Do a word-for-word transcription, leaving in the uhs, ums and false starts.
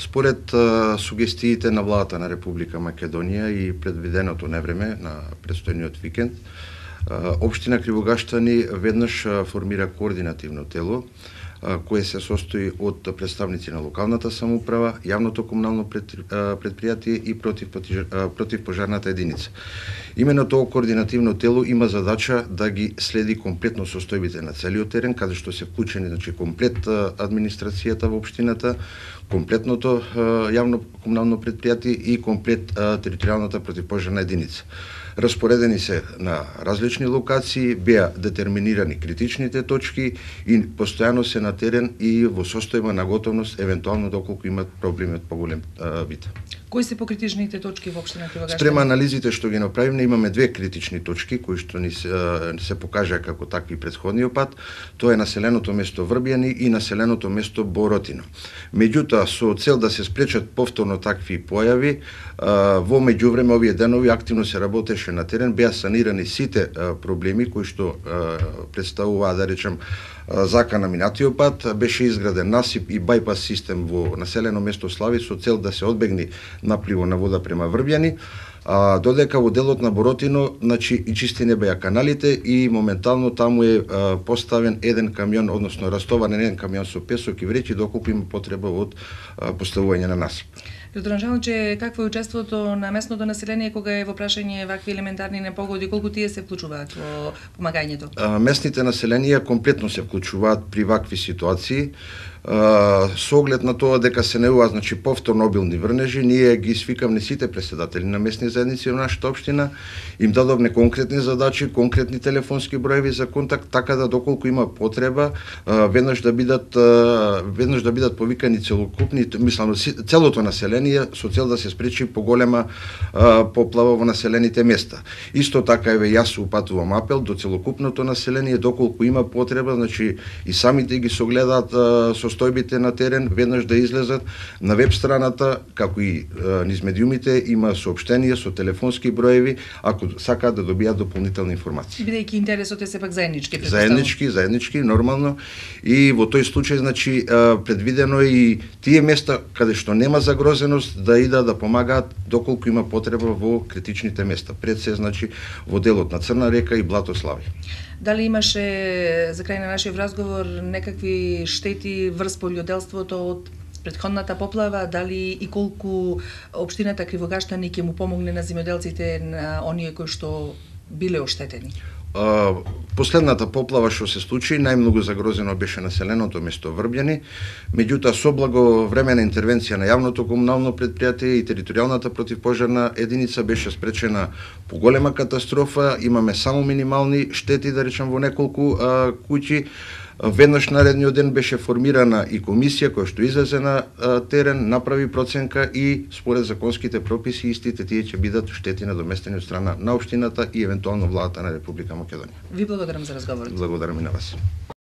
Според а, сугестиите на владата на Република Македонија и предвиденото невреме на предстојниот викенд, а, општина Кривогаштани веднаш а, формира координативно тело кое се состои од представници на локалната самоуправа, јавното комунално предпријатие и против, против пожарната единица. Имено тоа координативно тело има задача да ги следи комплетно состојбите на целиот терен, каде што се вклучени, значи, комплет администрацијата во општината, комплетното јавно комунално предпријатие и комплет територијалната противпожарна единица. Распоредени се на различни локации, беа детерминирани критичните точки и постојано се на терен и во состојба на готовност, евентуално доколку имат проблеми од поголем вид. Кои се покритичните точки во општина Кривогаштани? Спрема анализите што ги направивме, имаме две критични точки кои што ни се, се покажаа како такви предходниот пат. Тоа е населеното место Врбјани и населеното место Боротино. Меѓутоа, со цел да се спречат повторно такви појави, во меѓувреме овие денови активно се работеше на терен, беа санирани сите проблеми кои што представуваа, да речем, зака на минатиот пат, беше изграден насип и бајпас систем во населено место Слави со цел да се одбегне напливо на вода према Врбјани, а, додека во делот на Боротино, значи, и чистени беа каналите и моментално таму е а, поставен еден камион, односно растоварен еден камион со песок и вреќи доколку има потреба од а, поставување на насип. Доктор Анжеловиче, какво е учеството на местното население кога е во прашање вакви елементарни непогоди, колку тие се вклучуваат во помагањето? А, местните населенија комплетно се вклучуваат при вакви ситуации. Uh, со оглед на тоа дека се неува, значи, повторно обилни врнежи, ние ги свикавме сите претседатели на местни заедници во нашата општина, им дадовме конкретни задачи, конкретни телефонски броеви за контакт, така да доколку има потреба, uh, веднаш да бидат uh, веднаш да бидат повикани целокупни, мислам, целото население со цел да се спречи поголема uh, поплава во населените места. Исто така, еве, јас упатувам апел до целокупното население, доколку има потреба, значи, и самите ги согледаат uh, со состојбите на терен, веднаш да излезат на веб страната, како и е, низ медиумите, има соопштенија со телефонски броеви, ако сакаат да добијат дополнителна информација. Бидејќи интересот е сепак заеднички, Заеднички, заеднички, нормално. И во тој случај, значи, е, предвидено е и тие места каде што нема загрозеност да идат да помагаат доколку има потреба во критичните места. Пред се, значи, во делот на Црна река и Блато Слави. Дали имаше, за крај на нашиот разговор, некакви штети врз полјоделството од претходната поплава, дали и колку општината Кривогаштани ќе му помогне на земјоделците, на оние кои што биле оштетени? Uh, последната поплава што се случи, најмногу загрозено беше населеното место Врбјани, меѓутоа со благовремена интервенција на јавното комунално предпријатие и територијалната противпожарна единица беше спречена поголема катастрофа, имаме само минимални штети, да речем, во неколку uh, куќи. Веднаш наредниот ден беше формирана и комисија која што излезе на а, терен, направи проценка и според законските прописи истите тие ќе бидат штети надоместени од страна на општината и евентуално владата на Република Македонија. Ви благодарам за разговорот. Благодарам и на вас.